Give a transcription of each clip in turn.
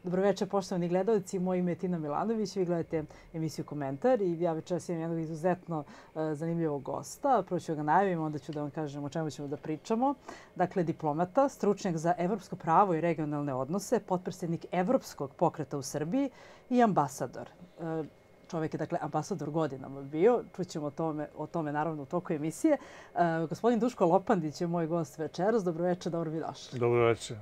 Dobroveče, poštovani gledalci. Moje ime je Tina Milanović. Vi gledate emisiju Komentar i ja večeras imam jednog izuzetno zanimljivog gosta. Prvo ću ga najavim, onda ću da vam kažem o čemu ćemo da pričamo. Dakle, diplomata, stručnjak za evropsko pravo i regionalne odnose, potpredsjednik Evropskog pokreta u Srbiji i ambasador. Čovjek je, dakle, ambasador godinama bio. Čućemo o tome naravno u toku emisije. Gospodin Duško Lopandić je moj gost večeras. Dobroveče, dobro mi došli. Dobroveče.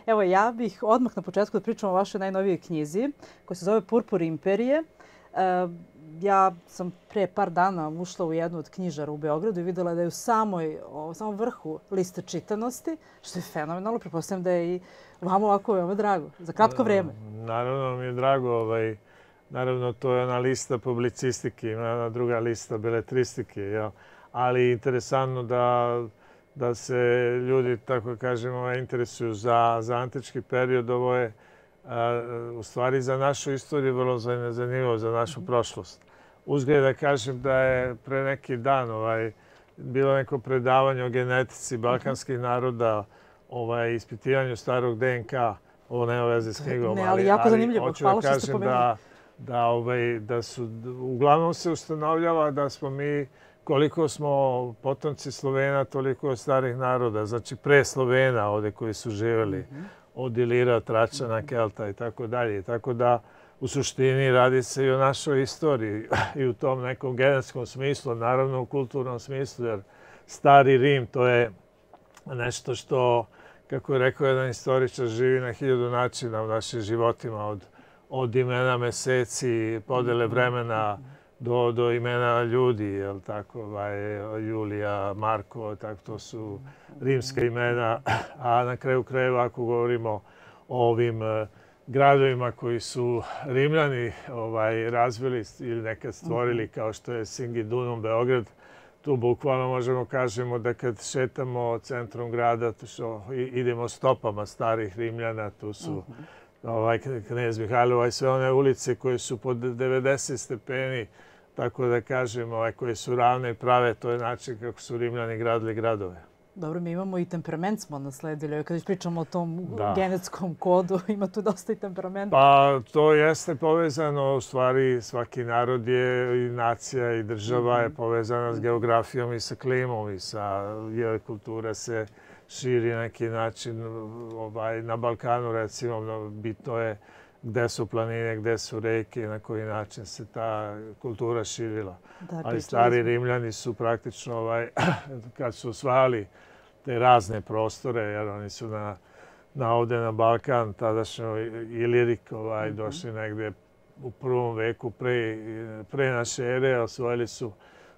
Evo, ja bih odmah na početku da pričam o vašoj najnovijoj knjizi koja se zove Purpur imperije. Ja sam pre par dana ušla u jednu od knjižara u Beogradu i videla da je u samom vrhu liste čitanosti, što je fenomenalno. Pretpostavljam da je i vama ovako veoma drago. Za kratko vreme. Naravno mi je drago. Naravno, to je ona lista publicistike, ima ona druga lista beletristike. Ali interesantno da se ljudi, tako kažemo, interesuju za antički period. Ovo je u stvari za našu istoriju vrlo zanimljivo, za našu prošlost. Uzgled da kažem da je pre neki dan bilo neko predavanje o genetici balkanskih naroda, ispitivanju starog DNK. Ovo nema veze s knjigom, ne, ali jako zanimljivo. Hvala što ste pomenuli. Da su, uglavnom se ustanovljava da smo mi, koliko smo potomci Slovena, toliko starih naroda. Znači pre Slovena ovdje koji su živjeli, od Ilira, Tračana, Kelta i tako dalje. Tako da u suštini radi se i o našoj istoriji i u tom nekom genetskom smislu, naravno u kulturnom smislu, jer stari Rim to je nešto što, kako je rekao jedan istoričar, živi na 1000 načina u našim životima, od imena meseci, podele vremena do imena ljudi, jel tako, Julija, Marko, tako to su rimska imena, a na kraju krajeva ako govorimo o ovim gradovima koji su Rimljani razvili ili nekad stvorili, kao što je Singidunum, Beograd, tu bukvalno možemo kažemo da kad šetamo centrom grada, idemo stopama starih Rimljana, tu su Knez Mihajlova i sve one ulice koje su pod 90 stepeni, tako da kažem, koje su ravne i prave, to je način kako su Rimljani gradili gradove. Dobro, mi imamo i temperament smo nasledili. Kada pričamo o tom genetskom kodu, ima tu dosta i temperamenta. Pa to jeste povezano, u stvari svaki narod je i nacija i država je povezana s geografijom i sa klimom i sa kultura se širi na neki način. Na Balkanu, recimo, bitno je gde su planine, gde su reke i na koji način se ta kultura širila. Ali stari Rimljani su praktično, kad su osvajali te razne prostore, jer oni su ovdje na Balkan, tadašnjo Ilirik, došli negdje u prvom veku pre naše ere, osvojili su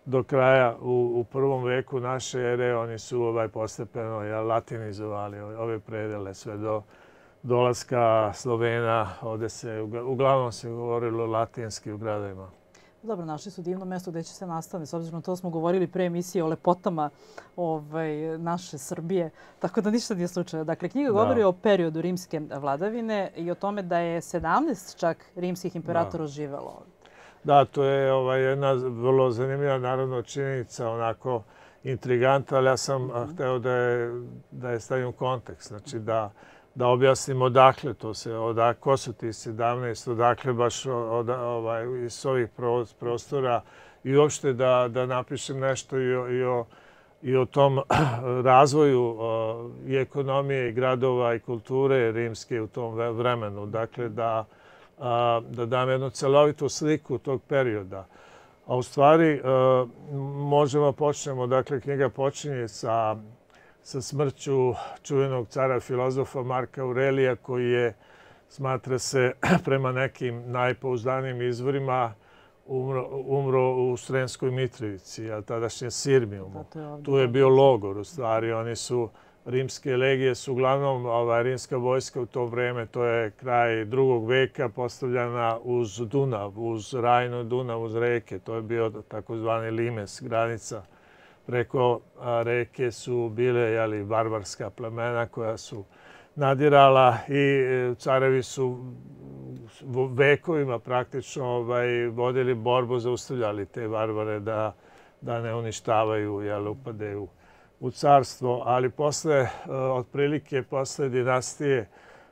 do kraja u prvom veku naše ere, oni su postepeno latinizovali ove predele sve do dolaska Slovena. Ovdje se uglavnom se govorilo latinski u gradovima. Dobro, našli su divno mjesto gdje će se nastaviti. S obzirom na to smo govorili pre emisije o lepotama naše Srbije, tako da ništa nije slučajno. Dakle, knjiga govori o periodu rimske vladavine i o tome da je 17 čak rimskih imperatora živelo ovdje. Da, to je jedna vrlo zanimljiva naravno činjenica, onako intriganta, ali ja sam hteo da je stavim u kontekst. Znači da objasnim odakle to se, ko su ti 17, odakle baš iz ovih prostora i uopšte da napišem nešto i o tom razvoju i ekonomije i gradova i kulture rimske u tom vremenu. Dakle, da dam jednu celovitu sliku tog perioda. A u stvari možemo počnemo, dakle, knjiga počinje sa smrću čuvenog cara filozofa Marka Aurelija, koji je, smatra se, prema nekim najpouzdanijim izvorima, umro u Sremskoj Mitrovici, a tadašnje Sirmijumu. Tu je bio logor, u stvari. Oni su, rimske legije su uglavnom, rimska vojska u to vreme, to je kraj 2. veka, postavljena uz Dunav, uz Rajnu, Dunav, uz reke. To je bio takozvani limes, granica. Preko reke su bile barbarska plemena koja su nadirala i carevi su vekovima praktično vodili borbu, zaustavljali te barbare da ne uništavaju, upadaju u carstvo. Ali otprilike posle dinastije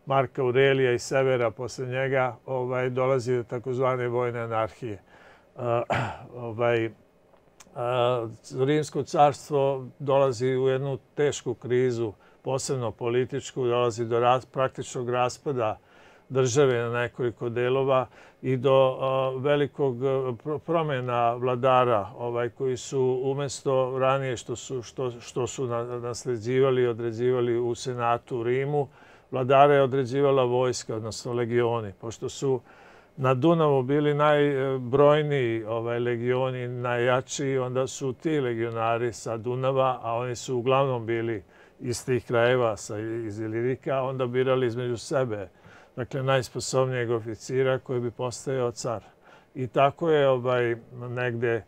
Marka Aurelija i Severa posle njega dolazi do takozvane vojne anarhije. Rimsko carstvo dolazi u jednu tešku krizu, posebno političku, dolazi do praktičnog raspada države na nekoliko delova i do velikog promjena vladara koji su umjesto ranije što su nasleđivali i određivali u Senatu u Rimu, vladare je određivala vojska, odnosno legioni. Pošto su na Dunavu bili najbrojniji legioni, najjačiji, onda su ti legionari sa Dunava, a oni su uglavnom bili iz tih krajeva, iz Ilirika, onda birali između sebe, dakle, najsposobnijeg oficira koji bi postajao car. I tako je negde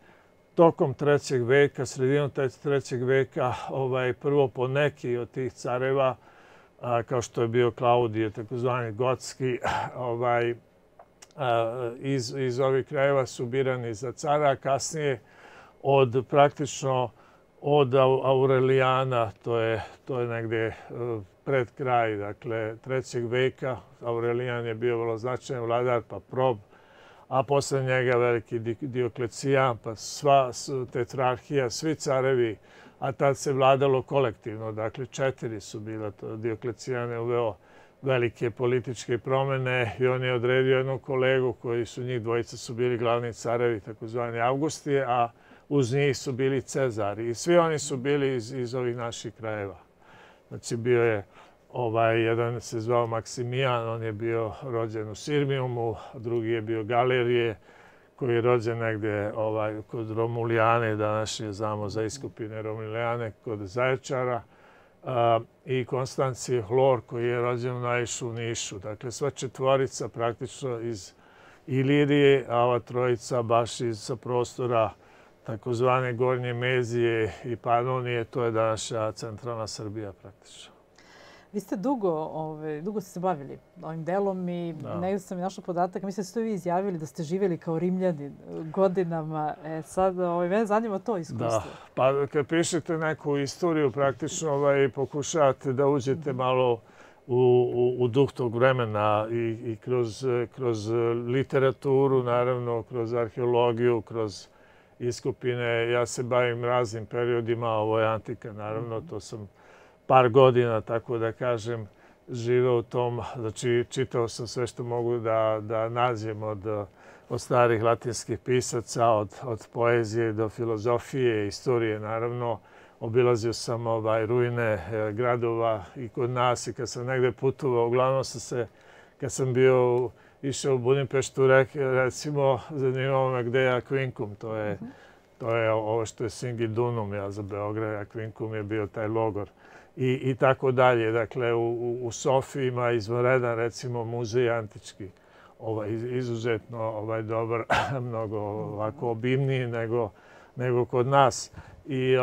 tokom 3. veka, sredinom 3. veka, prvo po neki od tih careva, kao što je bio Klaudije, takozvani gotski, iz ovih krajeva su birani za cara, a kasnije praktično od Aurelijana, to je negde pred kraj, dakle, 3. veka. Aurelijan je bio vrlo značajan vladar, pa Prob, a posle njega veliki Dioklecijan, pa sva tetrarhija, svi carevi, a tad se vladalo kolektivno, dakle, 4 su bila. Dioklecijan je uveo velike političke promjene i on je odredio jednog kolegu koji su njih dvojica su bili glavni carevi, takozvani Augustije, a uz njih su bili Cezari. I svi oni su bili iz ovih naših krajeva. Znači, bio je jedan se zvao Maksimijan, on je bio rođen u Sirmijumu, drugi je bio Galerije, koji je rođen negdje kod Romulijane, današnje znamo za iskupine Romulijane, kod Zaječara, i Konstancije Hlor, koji je rođen u Najšu u Nišu. Dakle, sva četvorica praktično iz Ilirije, a ova trojica baš sa prostora takozvane Gornje Mezije i Panonije, to je današnja centralna Srbija praktično. Vi ste dugo ste se bavili ovim delom i negdje sam i našla podatak. Mislim da ste vi izjavili da ste živjeli kao Rimljanin godinama. Sad, mene zanima to iskustvo. Da, pa kad pišete neku istoriju, praktično pokušavate da uđete malo u duh tog vremena i kroz literaturu, naravno, kroz arheologiju, kroz iskopine. Ja se bavim raznim periodima, ovo je antika, naravno, to sam par godina, tako da kažem, živeo u tom, znači čitao sam sve što mogu da nađem od starih latinskih pisaca, od poezije do filozofije, istorije, naravno. Obilazio sam ruine gradova i kod nas i kad sam negde putovao, uglavnom kad sam išao u Budimpeštu, recimo, zanimalo me gde je Aquincum, to je ovo što je Singidunum, ja za Beograd, Aquincum je bio taj logor. I tako dalje. Dakle, u Sofiji ima izvanredan, recimo, muzej antički. Izuzetno dobar, mnogo ovako obimniji nego kod nas. I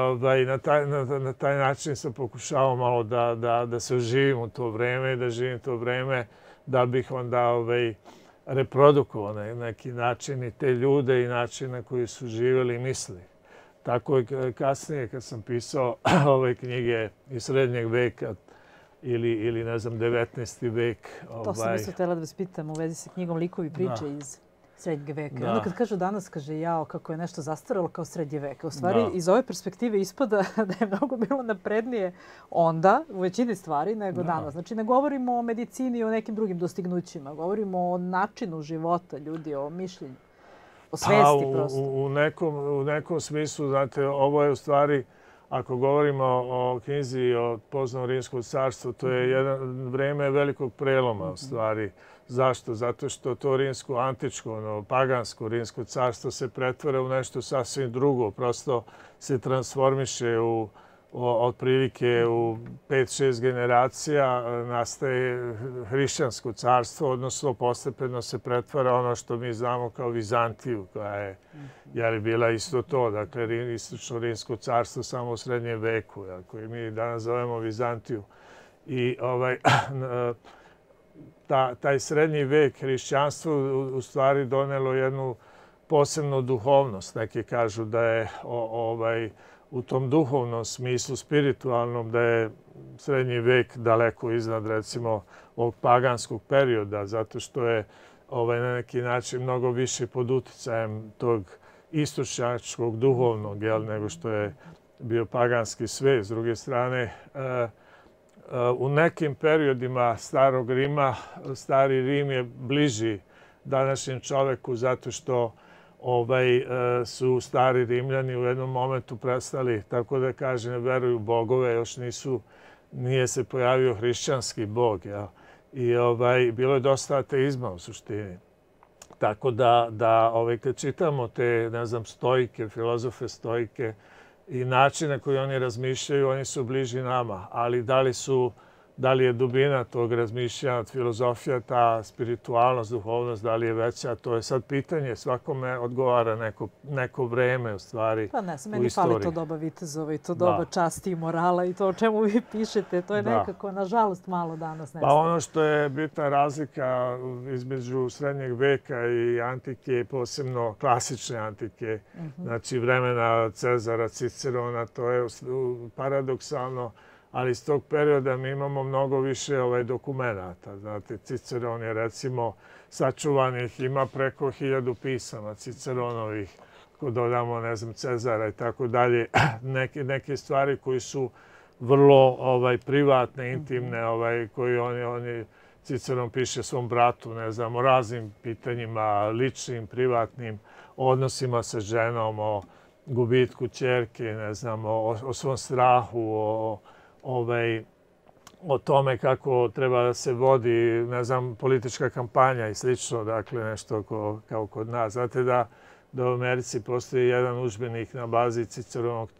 na taj način sam pokušao malo da se oživim u to vreme i da živim to vreme da bih onda reprodukovao na neki način i te ljude i način na koji su živjeli i mislili. Tako je kasnije kad sam pisao ove knjige iz srednjeg veka ili ne znam, 19. vek. To sam isto htjela da vas pitam u vezi sa knjigom Likovi priče iz srednjeg veka. Onda kad kažu danas, kaže jao, kako je nešto zastaralo kao srednje veka. U stvari, iz ove perspektive ispada da je mnogo bilo naprednije onda, u većini stvari, nego danas. Znači, ne govorimo o medicini i o nekim drugim dostignućima. Govorimo o načinu života ljudi, o mišljenju. O svesti prosto. U nekom smislu, znate, ovo je u stvari, ako govorimo o knjizi i o poznanom Rimskom carstvu, to je jedan vreme velikog preloma u stvari. Zašto? Zato što to rimsko, antičko, pagansko Rimsko carstvo se pretvara u nešto sasvim drugo. Prosto se transformiše otprilike u 5-6 generacija, nastaje hrišćansko carstvo, odnosno postepeno se pretvara ono što mi znamo kao Vizantiju, koja je bila isto to, dakle istočno Rimsko carstvo samo u srednjem veku, koji mi danas zovemo Vizantiju. I taj srednji vek hrišćanstvo u stvari donelo jednu posebnu duhovnost. Neki kažu da je u tom duhovnom smislu, spiritualnom, da je srednji vek daleko iznad, recimo, ovog paganskog perioda, zato što je na neki način mnogo više pod uticajem tog istočnjačkog duhovnog, nego što je bio paganski svet. S druge strane, u nekim periodima starog Rima, stari Rim je bliži današnjem čoveku zato što su stari Rimljani u jednom momentu prestali, tako da kažem, veruju u bogove, još nije se pojavio hrišćanski bog. I bilo je dosta ateizma u suštini. Tako da kad čitamo te, ne znam, stoike, filozofe stoike i način na koji oni razmišljaju, oni su bliži nama. Ali da li je dubina tog razmišljanja, filozofija, ta spiritualnost, duhovnost, da li je veća, to je sad pitanje. Svakome odgovara neko vreme u stvari pa ne, meni fali to doba vitezova i to doba časti i morala i to o čemu vi pišete. To je nekako, nažalost, malo danas nestaje. Pa ono što je bitna razlika između srednjeg veka i antike, posebno klasične antike, znači vremena Cezara, Cicerona, to je paradoksalno. Ali iz tog perioda mi imamo mnogo više dokumenata. Znate, Ciceron je recimo sačuvanih, ima preko 1000 pisama Ciceronovih, ako dodamo, ne znam, Cezara i tako dalje. Neke stvari koji su vrlo privatne, intimne, koji Ciceron piše svom bratu, ne znam, o raznim pitanjima, ličnim, privatnim, o odnosima sa ženom, o gubitku ćerke, ne znam, o svom strahu, o tome kako treba da se vodi, ne znam, politička kampanja i slično, dakle nešto kao kod nas. Znate da u Americi postoji jedan udžbenik na bazi Ciceronog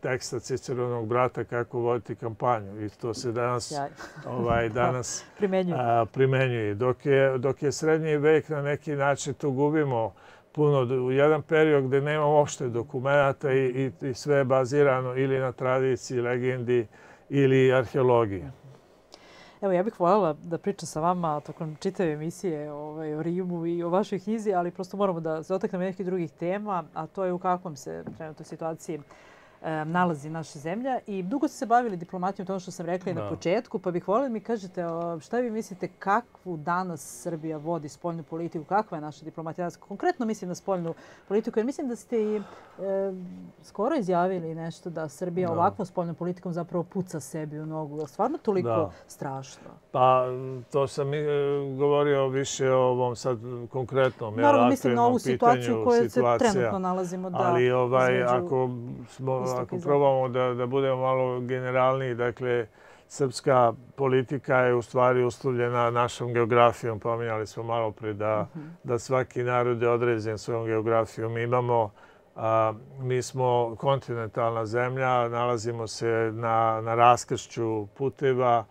teksta, Ciceronog brata kako voditi kampanju i to se danas primenjuje. Dok je srednji vek na neki način tu gubimo puno, u jedan period gde nema uopšte dokumenta i sve je bazirano ili na tradiciji, legendi ili arheologiji. Evo, ja bih voljela da pričam sa vama tokom čitave emisije o Rimu i o vašoj knjizi, ali prosto moramo da se dotaknemo nekih drugih tema, a to je u kakvom se trenutnoj situaciji nalazi naša zemlja. I dugo ste se bavili diplomatijom, to ono što sam rekla i na početku, pa bih voljela da mi kažete šta vi mislite kakvu danas Srbija vodi spoljnu politiku, kakva je naša diplomatija danas? Konkretno mislim na spoljnu politiku, jer mislim da ste i skoro izjavili nešto da Srbija ovakvom spoljnom politikom zapravo puca sebi u nogu. Je li stvarno toliko strašno? Pa to sam govorio više o ovom sad konkretnom naravno, mislim na ovu situaciju u kojoj se trenutno nalazimo. Ali ako probamo da budemo malo generalniji, dakle, srpska politika je u stvari uslovljena našom geografijom. Pominjali smo malo pre da svaki narod je određen svojom geografijom. Mi smo kontinentalna zemlja, nalazimo se na raskršću puteva,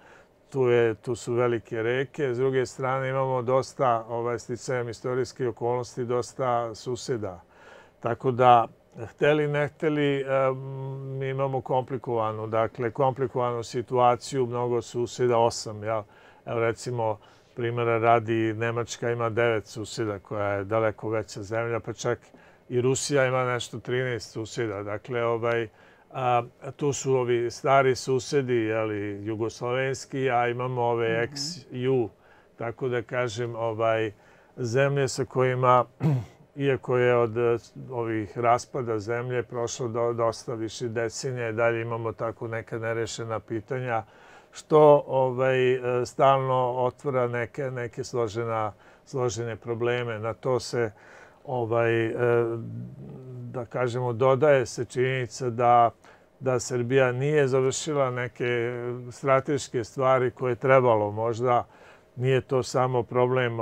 tu su velike reke. S druge strane imamo dosta, sticajem istorijske okolnosti, dosta suseda. Tako da, hteli, ne hteli, mi imamo komplikovanu situaciju, mnogo suseda, 8. Evo recimo, primjera radi, Nemačka ima 9 suseda, koja je daleko veća zemlja, pa čak i Rusija ima nešto 13 suseda. Dakle, tu su ovi stari susedi, jugoslovenski, a imamo ove ex-ju, tako da kažem, zemlje sa kojima, iako je od ovih raspada zemlje prošlo dosta više decenija, dalje imamo tako neka nerešena pitanja, što stalno otvara neke složene probleme. Na to se, da kažemo, dodaje se činjenica da Srbija nije završila neke strateške stvari koje je trebalo. Možda nije to samo problem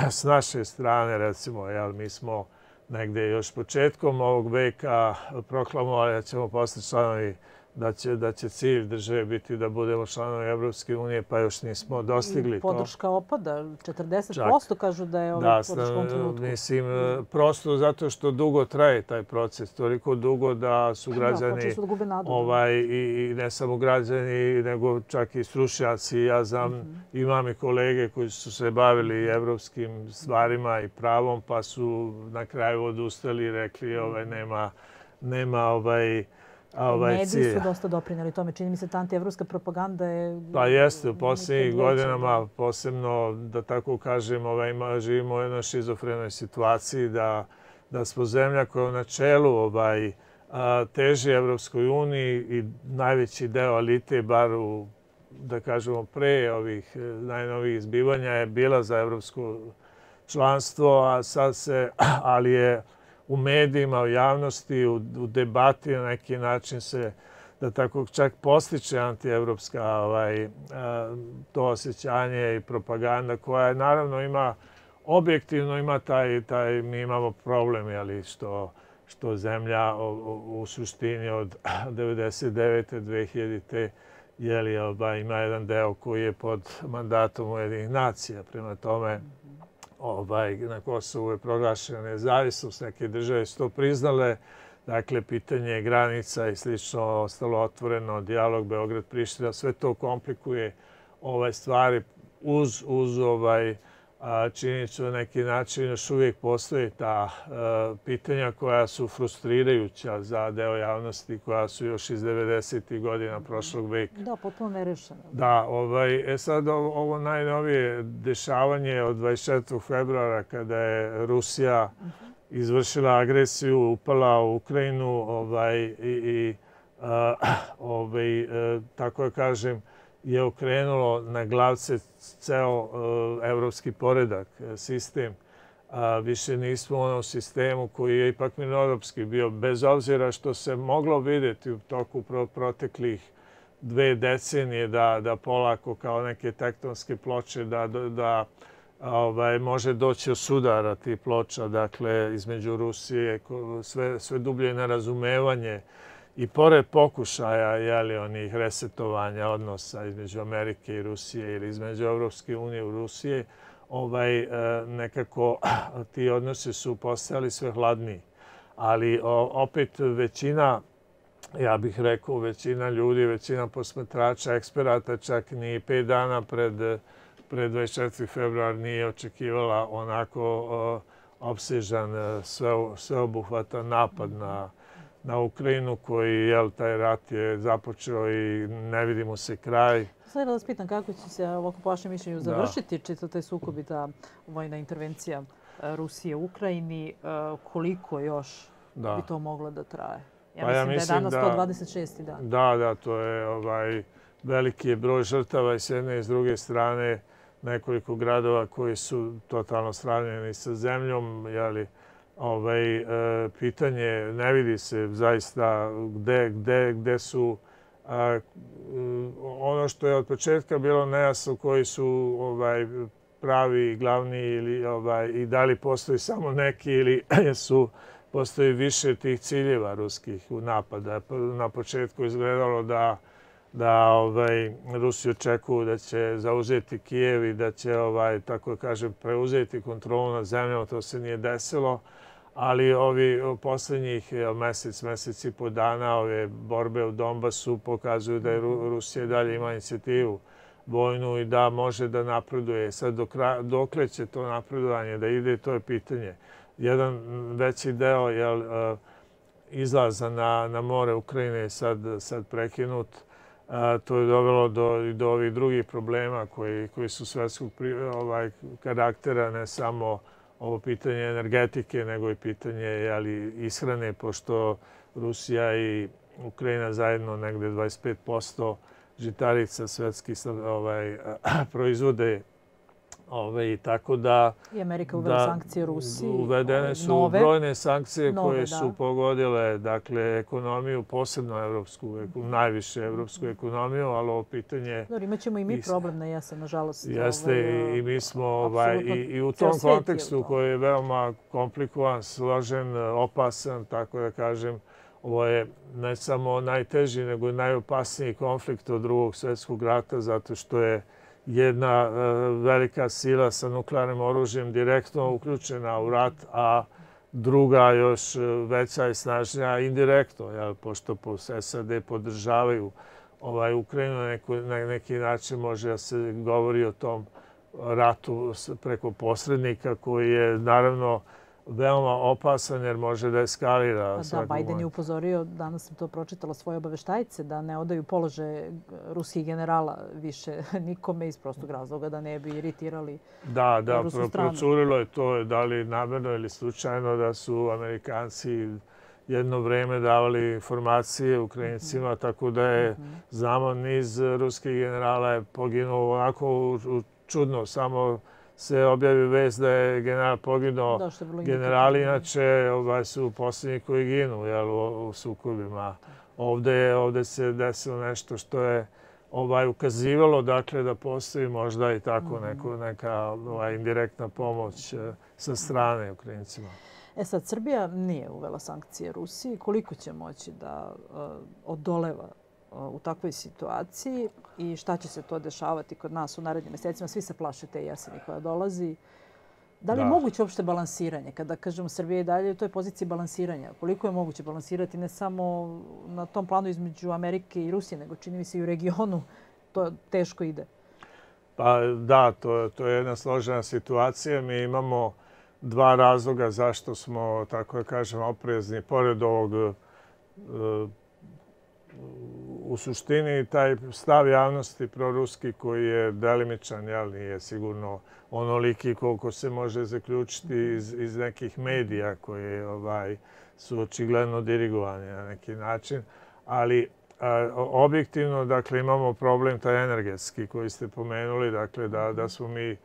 s naše strane, recimo, mi smo negde još početkom ovog veka proklamovali da ćemo postati članovi, da će cilj države biti da budemo članovi Evropske unije, pa još nismo dostigli to. Podrška opada, 40% kažu da je podrška u trenutku. Mislim, prosto zato što dugo traje taj proces, toliko dugo da su građani, i ne samo građani, nego čak i stručnjaci. Ja znam, imam i kolege koji su se bavili evropskim stvarima i pravom, pa su na kraju odustali i rekli nema Mediji su dosta doprinjeli tome. Čini mi se ta antievropska propaganda je... Pa jeste, u posljednjih godinama posebno, da tako kažem, živimo u jednoj šizofrenoj situaciji da smo zemlja koja u načelu teži Evropskoj uniji i najveći deo elite, bar da kažemo pre ovih najnovijih zbivanja, je bila za evropsko članstvo, a sad ali je u medijima, u javnosti, u debati na neki način se, da tako čak postiče antievropska to osjećanje i propaganda koja naravno ima, objektivno ima mi imamo problem, što zemlja u suštini od 99. 2000. Ima jedan deo koji je pod mandatom Ujedinjenih nacija. Prema tome, na Kosovu je proglašena nezavisnost, neke države su to priznale. Dakle, pitanje granica i slično ostalo otvoreno, dijalog Beograd-Priština, sve to komplikuje stvari uz činjenicu na neki način još uvijek postoje ta pitanja koja su frustrirajuća za deo javnosti, koja su još iz 90. godina prošlog veka. Da, potpuno nerešeno. Da, sad ovo najnovije dešavanje od 24. februara kada je Rusija izvršila agresiju, upala u Ukrajinu i tako da kažem, je okrenulo na glavce ceo evropski poredak, sistem. Više nismo u onom sistemu koji je ipak mirnodopski bio, bez obzira što se moglo vidjeti u toku proteklih 2 decenije da polako kao neke tektonske ploče da može doći od sudara tih ploča, dakle između Rusije, sve dublje nerazumevanje. I pored pokušaja onih resetovanja odnosa između Amerike i Rusije ili između Evropske unije i Rusije, nekako ti odnosi su postajali sve hladniji. Ali opet većina, ja bih rekao, većina ljudi, većina posmatrača, eksperata, čak ni 5 dana pred 24. februar nije očekivala onako opsežan, sveobuhvatan napad na Ukrajinu koji, taj rat je započeo i ne vidi mu se kraj. Sada da vas pitam kako će se, ovako po vašem mišljenju, završiti čitav taj sukob i ta vojna intervencija Rusije u Ukrajini, koliko još bi to moglo da traje? Ja mislim da je danas 126. dan. Da, to je veliki broj žrtava i s jedne i s druge strane nekoliko gradova koji su totalno sravnjeni sa zemljom, pitanje ne vidi se zaista gde su ono što je od početka bilo nejasno koji su pravi, glavni i da li postoji samo neki ili postoji više tih ciljeva ruskih napada. Na početku izgledalo da Rusi očekuju da će zauzeti Kijev i da će, tako kažem, preuzeti kontrolu nad zemljom. To se nije desilo. Ali ovi posljednjih mesec i po dana ove borbe u Donbasu pokazuju da je Rusija dalje ima inicijativu vojnu i da može da napreduje. Sad dokle će to napredovanje da ide, to je pitanje. Jedan veći deo izlaza na more Ukrajine je sad prekinut. To je dovelo do ovih drugih problema koji su svetskog karaktera, ne samo ovo pitanje energetike, nego i pitanje ishrane, pošto Rusija i Ukrajina zajedno negde 25% žitarica svetskih proizvode. Tako da... I Amerika uvela sankcije Rusiji. Uvedene su brojne sankcije koje su pogodile ekonomiju, posebno evropsku, najviše evropsku ekonomiju, ali ovo pitanje... Imaćemo i mi problem na jesen, nažalost. Jeste, i mi smo i u tom kontekstu koji je veoma komplikovan, složen, opasan, tako da kažem, ovo je ne samo najteži, nego i najopasniji konflikt od Drugog svjetskog rata, zato što je jedna velika sila sa nuklearnim oružjem direktno uključena u rat, a druga još veća i snažnija indirektno, pošto SAD podržavaju Ukrajinu, na neki način može da se govori o tom ratu preko posrednika koji je naravno veoma opasan jer može da eskalira. Da, Biden je upozorio, danas sam to pročitala, svoje obaveštajce da ne odaju položaje ruskih generala više nikome iz prostog razloga da ne bi iritirali rusku stranu. Procurilo je to, da li namerno ili slučajno, da su Amerikanci jedno vreme davali informacije Ukrajincima, tako da je, znamo, niz ruskih generala je poginuo onako čudno, samo se objavi vest da je general poginuo. Generali inače su posljednji koji ginu u sukobima. Ovdje se desilo nešto što je ukazivalo dakle da postoji možda i tako neka indirektna pomoć sa strane Ukrajincima. Sad, Srbija nije uvela sankcije Rusiji. Koliko će moći da odoleva u takvoj situaciji i šta će se to dešavati kod nas u narednim mjesecima? Svi se plaše te jeseni koja dolazi. Da li je moguće uopšte balansiranje? Kada kažemo Srbija i dalje u toj poziciji balansiranja, koliko je moguće balansirati ne samo na tom planu između Amerike i Rusije, nego čini mi se i u regionu, to teško ide? Pa da, to je jedna složena situacija. Mi imamo dva razloga zašto smo, tako da kažem, oprezni. Pored ovog, u suštini, taj stav javnosti proruski koji je delimičan, nije sigurno onoliki koliko se može zaključiti iz nekih medija koji su očigledno dirigovani na neki način. Ali objektivno, dakle, imamo problem taj energetski koji ste pomenuli, dakle, da smo mi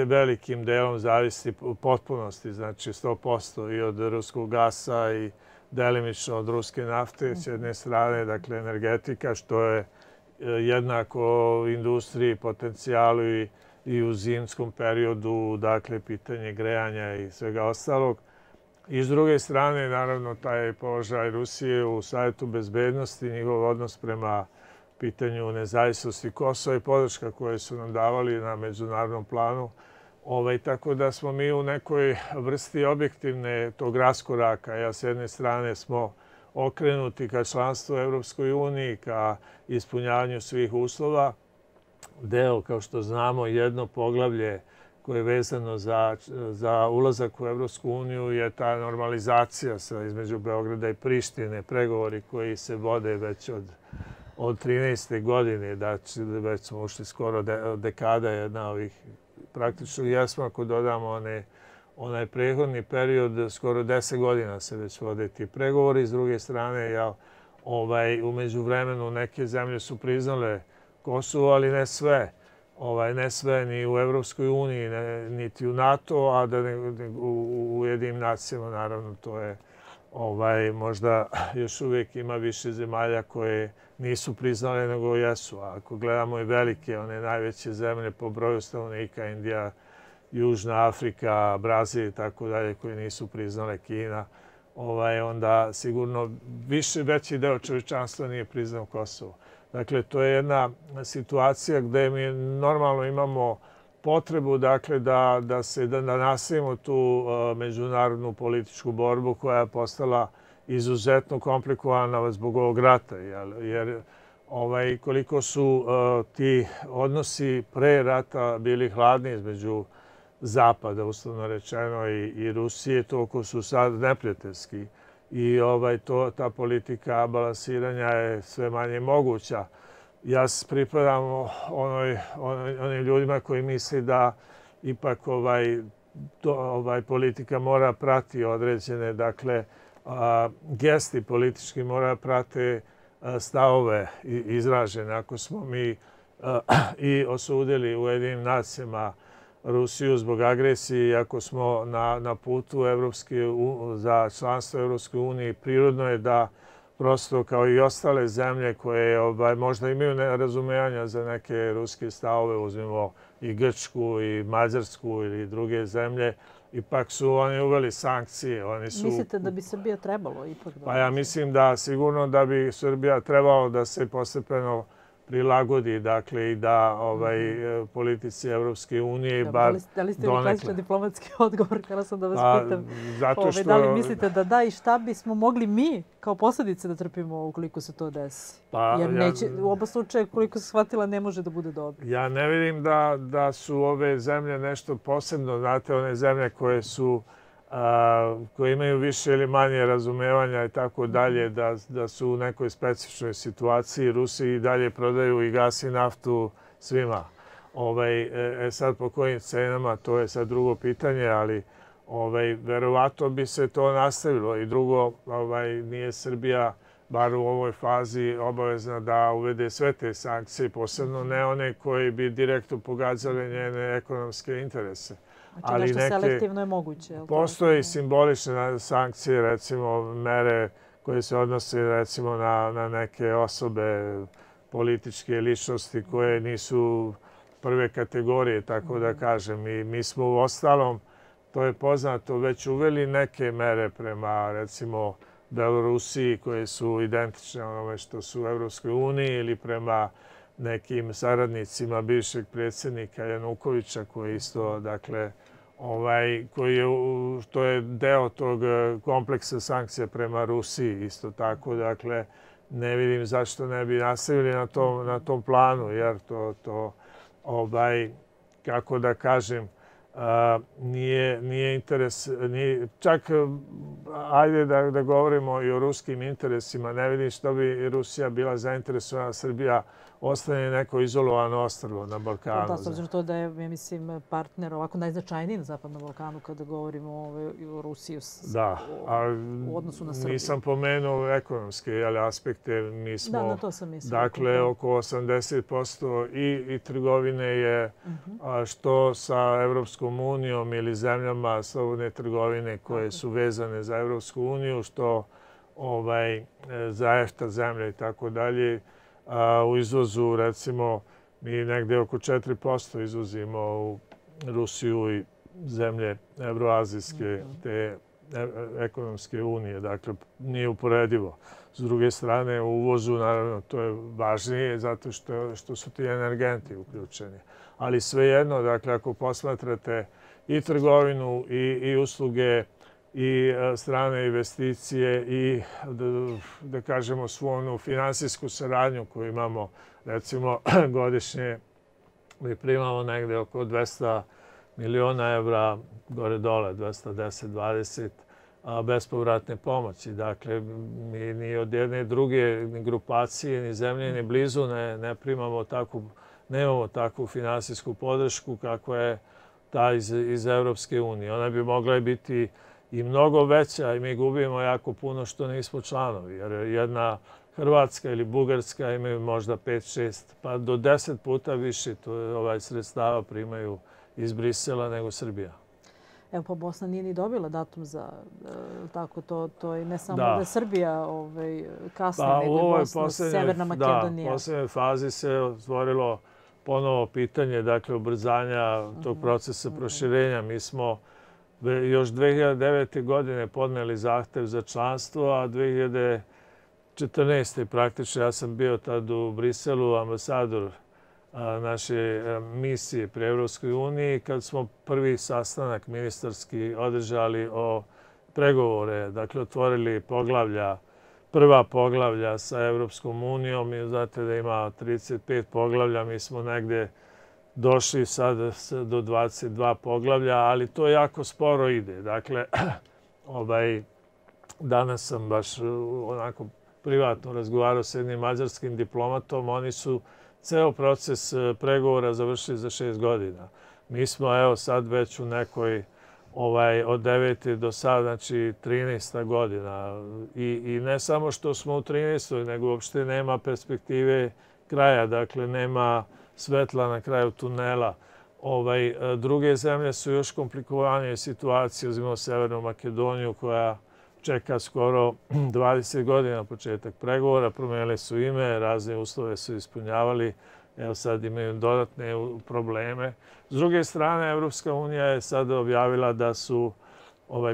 velikim delom zavisi u potpunosti, znači 100% i od ruskog gasa i delimično od ruske nafte s jedne strane, dakle energetika, što je jednako industriji, potencijalu i u zimskom periodu, dakle pitanje grejanja i svega ostalog. I s druge strane, naravno, taj položaj Rusije u Savjetu bezbednosti, njihov odnos prema pitanju nezavisnosti Kosova i podrška koje su nam davali na međunarodnom planu. Tako da smo mi u nekoj vrsti objektivne tog raskoraka. S jedne strane smo okrenuti ka članstvu u Evropskoj uniji, ka ispunjavanju svih uslova. Deo, kao što znamo, jedno poglavlje koje je vezano za ulazak u Evropsku uniju je ta normalizacija između Beograda i Prištine, pregovori koji se vode već od 13. godine, već smo ušli skoro dekada jedna ovih. Praktično jesmo, ako dodamo onaj prethodni period, skoro 10 godina se već vode ti pregovori. S druge strane, u međuvremenu neke zemlje su priznale Kosovo, ali ne sve. Ne sve ni u Evropskoj uniji, niti u NATO, a da u Ujedinjenim nacijama, naravno, to je možda još uvijek ima više zemalja koje nisu priznale nego jesu. A ako gledamo i velike, one najveće zemlje po broju stanovnika, Indija, Južna Afrika, Brazil i tako dalje, koje nisu priznale, Kina, onda sigurno veći deo čovječanstva nije priznao Kosovo. Dakle, to je jedna situacija gdje mi normalno imamo potrebu da nastavimo tu međunarodnu političku borbu koja je postala izuzetno komplikovana zbog ovog rata. Jer koliko su ti odnosi pre rata bili hladni između Zapada, uslovno rečeno, i Rusije, toliko su sad neprijateljski. I ta politika balansiranja je sve manje moguća. Ja pripadam onim ljudima koji misli da ipak politika mora prati određene, dakle, gesti politički mora prate stavove izražene. Ako smo mi i osudili u Ujedinjenim nacijama Rusiju zbog agresije i ako smo na putu za članstvo Evropske unije, prirodno je da prosto kao i ostale zemlje koje možda imaju nerazumevanja za neke ruske stavove, uzmimo i Grčku i Mađarsku ili druge zemlje, ipak su oni uveli sankcije. Mislite da bi Srbija trebalo ipak da... Pa ja mislim da sigurno da bi Srbija trebalo da se postepeno prilagodi, dakle, i da politici Evropske unije bar Da li ste mi klasičan diplomatski odgovor? Htjela sam da vas pitam. Zato što... Da li mislite da da i šta bismo mogli mi kao posljedice da trpimo ukoliko se to desi? Jer neće, u oba slučaja, koliko se shvatila, ne može da bude dobro. Ja ne vidim da su ove zemlje nešto posebno. Znate, one zemlje koje imaju više ili manje razumevanja i tako dalje, da su u nekoj specifičnoj situaciji. Rusi i dalje prodaju i gas i naftu svima. Sad po kojim cenama, to je sad drugo pitanje, ali verovatno bi se to nastavilo. I drugo, nije Srbija, bar u ovoj fazi, obavezna da uvede sve te sankcije, posebno ne one koji bi direktno pogađale njene ekonomske interese. Znači nešto selektivno je moguće. Postoje i simbolične sankcije, recimo mere koje se odnose recimo na neke osobe, političke ličnosti koje nisu prve kategorije, tako da kažem. I mi smo u ostalom, to je poznato, već uveli neke mere prema recimo Belorusiji koje su identične onome što su u Evropskoj uniji ili prema nekim saradnicima bivšeg predsjednika Janukovića koji isto, dakle, to je deo tog kompleksa sankcija prema Rusiji isto tako. Dakle, ne vidim zašto ne bi nastavili na tom planu, jer to kako da kažem, nije interes, čak ajde da govorimo i o ruskim interesima, ne vidim što bi Rusija bila zainteresovana, Srbija ostane neko izolovano ostrvo na Balkanu. Da, s obzirom to da je, ja mislim, partner ovako najznačajniji na Zapadnom Balkanu kada govorimo o Rusiji u odnosu na Srbiju. Nisam pomenuo ekonomske aspekte. Mi smo, na to sam mislila. Dakle, oko 80% i trgovine je što sa Evropskom unijom ili zemljama slobodne trgovine koje su vezane za Evropsku uniju, što za EFTA zemlje i tako dalje. U izvozu, recimo, mi negde oko 4% izvozimo u Rusiju i zemlje evroazijske, te ekonomske unije. Dakle, nije uporedivo. S druge strane, u uvozu, naravno, to je važnije zato što su ti energenti uključeni. Ali svejedno, dakle, ako posmatrate i trgovinu i usluge i strane investicije i, da kažemo, svu onu finansijsku saradnju koju imamo, recimo, godišnje mi primamo negde oko 200 miliona evra, gore-dole, 210-20 bespovratne pomoći. Dakle, mi ni od jedne druge ni grupacije, ni zemlje, ni blizu ne primamo takvu, nemamo takvu finansijsku podršku kakva je ta iz Evropske unije. Ona bi mogla biti i mnogo veća i mi gubimo jako puno što nismo članovi. Jer jedna Hrvatska ili Bugarska imaju možda 5-6, pa do 10 puta više sredstava primaju iz Brisela nego Srbija. Evo, pa Bosna nije ni dobila datum za tako to i ne samo da je Srbija kasne, nego i Bosna, Severna Makedonija. U poslednjoj fazi se otvorilo ponovo pitanje, dakle, ubrzanja tog procesa proširenja. Mi smo još 2009. godine podneli zahtev za članstvo, a 2014. praktično ja sam bio tad u Briselu, ambasador naše misije pri Evropskoj uniji, kad smo prvi sastanak ministarski održali o pregovore, dakle otvorili prva poglavlja sa Evropskom unijom. I znate da ima 35 poglavlja, mi smo negde došli sad do 22 poglavlja, ali to jako sporo ide. Dakle, danas sam baš onako privatno razgovarao s jednim mađarskim diplomatom. Oni su ceo proces pregovora završili za 6 godina. Mi smo, evo, sad već u nekoj od 9. do sad, znači 13. godina. I ne samo što smo u 13. nego uopšte nema perspektive kraja, dakle nema svetla na kraju tunela. Druge zemlje su još komplikovanije situacije. Uzmimo Severnu Makedoniju koja čeka skoro 20 godina početak pregovora. Promenili su ime, razne uslove su ispunjavali. Evo sad imaju dodatne probleme. S druge strane, Evropska unija je sad objavila da su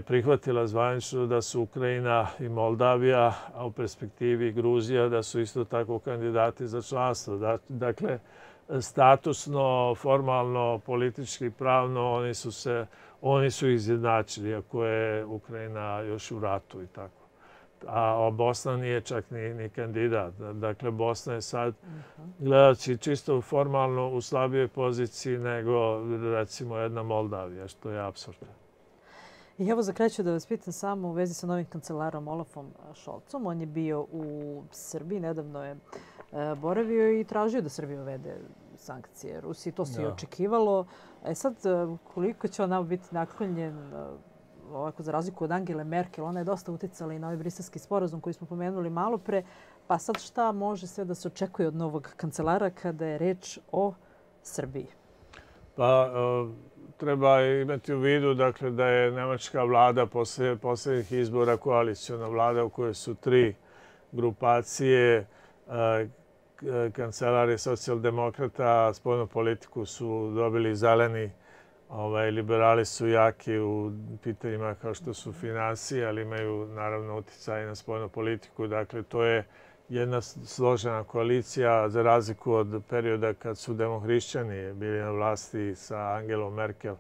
prihvatila zvanično da su Ukrajina i Moldavija, a u perspektivi i Gruzija, da su isto tako kandidati za članstvo. Dakle, statusno, formalno, politički, pravno, oni su izjednačili, ako je Ukrajina još u ratu i tako. A Bosna nije čak ni kandidat. Dakle, Bosna je sad, gledajući čisto formalno, u slabijoj poziciji nego, recimo, jedna Moldavija, što je apsurdno. I evo za kraj ću da vas pitam samo u vezi sa novim kancelarom Olafom Scholzom. On je bio u Srbiji, nedavno je boravio i tražio da Srbija uvede sankcije Rusiji. To se i očekivalo. Sad, koliko će on nam biti naklonjen, ovako za razliku od Angele Merkel, ona je dosta uticala i na ovaj briselski sporazum koji smo pomenuli malo pre. Pa sad šta može sve da se očekuje od novog kancelara kada je reč o Srbiji? Pa treba imati u vidu dakle, da je nemačka vlada posle posljednjih izbora koaliciona vlada u kojoj su 3 grupacije. Kancelar je socijaldemokrata, spoljnu politiku su dobili zeleni. Liberali su jaki u pitanjima kao što su finansije, ali imaju naravno uticaj na spoljnu politiku. Dakle, to je jedna složena koalicija za razliku od perioda kad su demohrišćani bili na vlasti sa Angelom Merkel.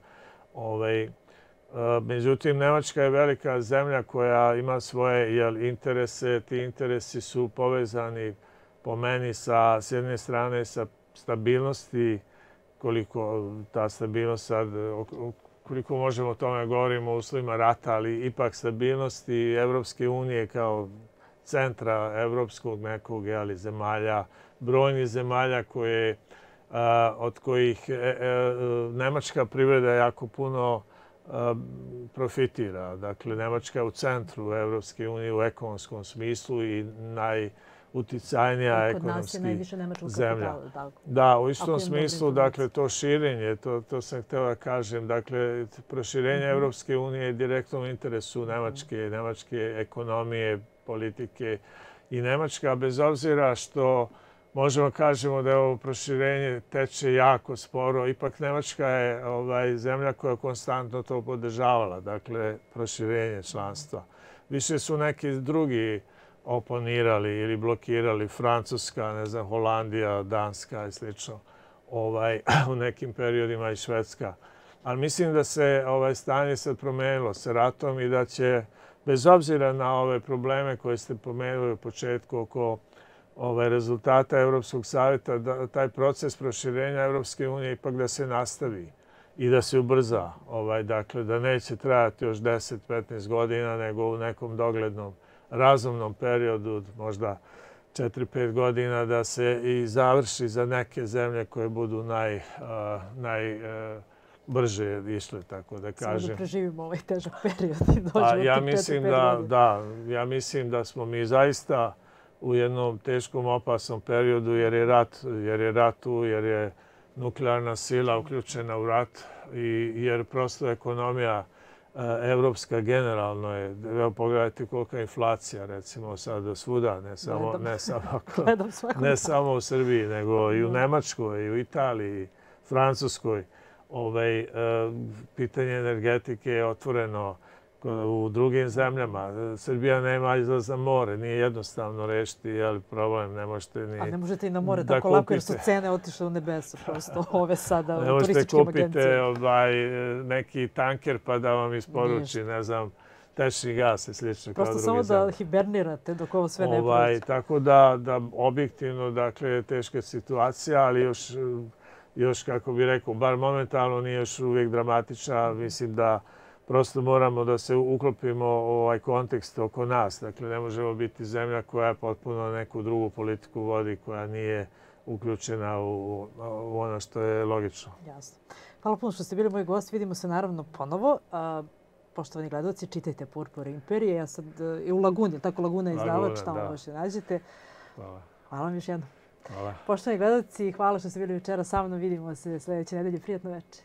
Međutim, Nemačka je velika zemlja koja ima svoje interese. Ti interesi su povezani po meni s jedne strane sa stabilnosti, koliko ta stabilnost sad, koliko možemo o tome govorimo u uslovima rata, ali ipak stabilnosti Evropske unije kao centra evropskog nekog zemalja, brojnih zemalja od kojih nemačka privreda jako puno profitira. Dakle, Nemačka je u centru Evropske unije u ekonomskom smislu i najuticajnija ekonomski zemlja. Da, u istom smislu, dakle, to širenje, to sam htio da kažem, dakle, proširenje Evropske unije je direktno u interesu nemačke ekonomije, politike i Nemačka, bez obzira što možemo kažemo da je ovo proširenje teče jako sporo, ipak Nemačka je zemlja koja je konstantno to podržavala, dakle, proširenje članstva. Više su neki drugi oponirali ili blokirali, Francuska, ne znam, Holandija, Danska i slično, u nekim periodima i Švedska. Ali mislim da se stanje sad promenilo sa ratom i da će, bez obzira na ove probleme koje ste pomenuli u početku oko rezultata Evropskog savjeta, da taj proces proširenja Evropske unije ipak da se nastavi i da se ubrza. Dakle, da neće trajati još 10-15 godina, nego u nekom doglednom razumnom periodu, možda 4-5 godina, da se i završi za neke zemlje koje budu najbrže išle, tako da kažem. Samo da preživimo ovaj težak period i dođemo od 4-5 godina. Da, ja mislim da smo mi zaista u jednom teškom, opasnom periodu jer je rat tu, jer je nuklearna sila uključena u rat i jer prosto ekonomija evropska generalno je. Pogledajte kolika je inflacija, recimo sad svuda, ne samo u Srbiji, nego i u Nemačkoj, i u Italiji, Francuskoj. Pitanje energetike je otvoreno u drugim zemljama. Srbija nema izlaz na more, nije jednostavno rešiti problem, ne možete ni... A ne možete i na more tako lako jer su cene otišle u nebesa, prosto ove sada u turističkim agencijama. Ne možete kupiti neki tanker pa da vam isporuči, ne znam, tečni gas i slično kao druge zemlje. Prosto samo da hibernirate dok ovo sve ne prođe. Tako da objektivno, dakle, je teška situacija, ali još, kako bih rekao, bar momentalno nije još uvijek dramatična. Mislim da prosto moramo da se uklopimo u ovaj kontekst oko nas. Dakle, ne možemo biti zemlja koja potpuno neku drugu politiku vodi, koja nije uključena u ono što je logično. Jasno. Hvala puno što ste bili moj gost. Vidimo se naravno ponovo. Poštovani gledalci, čitajte Purpure imperije. Ja sad i u Laguni, tako Laguna izdavač, tamo možete nađete. Hvala. Hvala vam još jednom. Hvala. Poštovani gledalci, hvala što ste bili večera sa mnom. Vidimo se sljedeće nedelje. Prijatno večer.